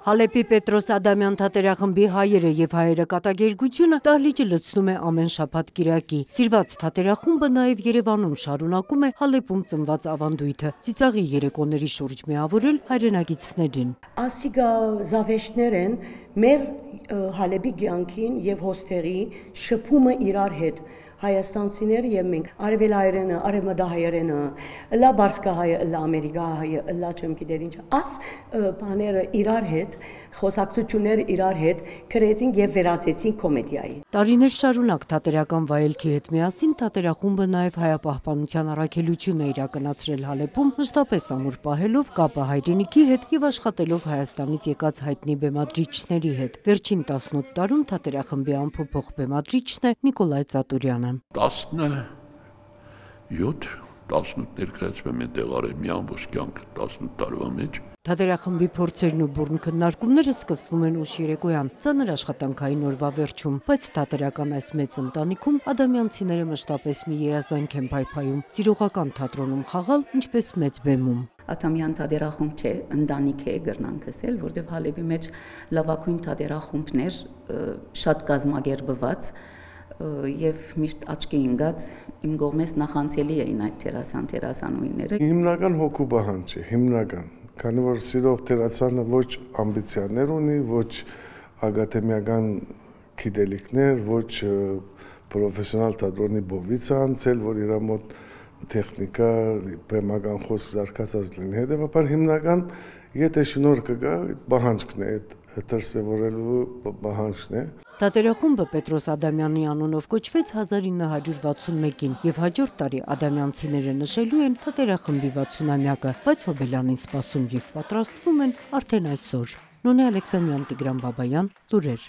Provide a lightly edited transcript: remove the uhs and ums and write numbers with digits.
Հալեպի Պետրոս Ադամյան թատերախմբի հայերը եւ հայերը կատակերգությունը դահլիճը լցնում է ամեն շաբաթ կիրակի։ Սիրված թատերախումբը նաեւ Երևանում շարունակում է Հալեպում ծնված ավանդույթը՝ ծիծաղի երեկոների շուրջ միավորել հայրենակիցներին։ Ասիգա զավեշներ են մեր Հալեպի կյանքին եւ հոստերի շփումը իրար հետ։ Հայաստանցիները եւ մենք արևելահայերենը, արևմտահայերենը, լա բարսկահայը, լա ամերիկահայը, լա չեմ գիտեր ինչ, աս բաները իրար հետ, խոսակցությունները իրար հետ գրեցին եւ վերածեցին կոմեդիայի։ Տարիներ շարունակ թատերական վայելքի հետ միասին թատերախումբը նաեւ հայապահպանության առաքելություն է իրականացրել Հալեպում, մշտապես ամուր պահելով կապը հայրենիքի հետ եւ աշխատելով Հայաստանից եկած հայտնի բեմադրիչների հետ։ Վերջին 18 տարում թատերախմբի ամփոփող բեմադրիչն է Նիկոլայ Ծատուրյանը։ 18 ներկայացվում է տեղարել մի ամբողջ կյանք 18 տարվա մեջ։ Թատերախմբի փորձերն ու բուռն քննարկումները սկսվում են ուշ երեկոյան, ծանր աշխատանքային օրվա վերջում, բայց թատերական այս մեծ ընտանիքում ադամյանցիները մշտապես մի երազանք են փայփայում՝ սիրողական թատրոնում խաղալ, ինչպես մեծ բեմում։ Ադամյան թատերախումբ չէ, ընտանիք է գրնանք ասել, որտեղ Հալեպի մեջ լավագույն թատերախումբներ շատ կազմակերպված եւ միշտ աչքի ընկած իմ կողմից նախանցելի էին այդ թերասանուհիները։ Հիմնական հոգու պահանջ է, հիմնական, քանի որ սիրող թերասանը ոչ ամբիցիաներ ունի, ոչ ակադեմիական գիտելիքներ, ոչ պրոֆեսիոնալ թատրոնի բովից է անցել, որ իր մոտ տեխնիկա, բեմական խոսք զարգացած լինի։ Հետևաբար հիմնական, եթե շնորհ կգա, պահանջն է, դրսևորելու պահանջն է։ Թատերախումբը Պետրոս Ադամյանի անունով կոչվեց 1961-ին եւ հաջորդ տարի ադամյանցիները նշելու են թատերախմբի 60-ամյակը, բայց Հոբելյանին սպասում եւ պատրաստվում են արդեն այսօր։ Նոնե Ալեքսանյան, Տիգրան Բաբայան, լուրեր։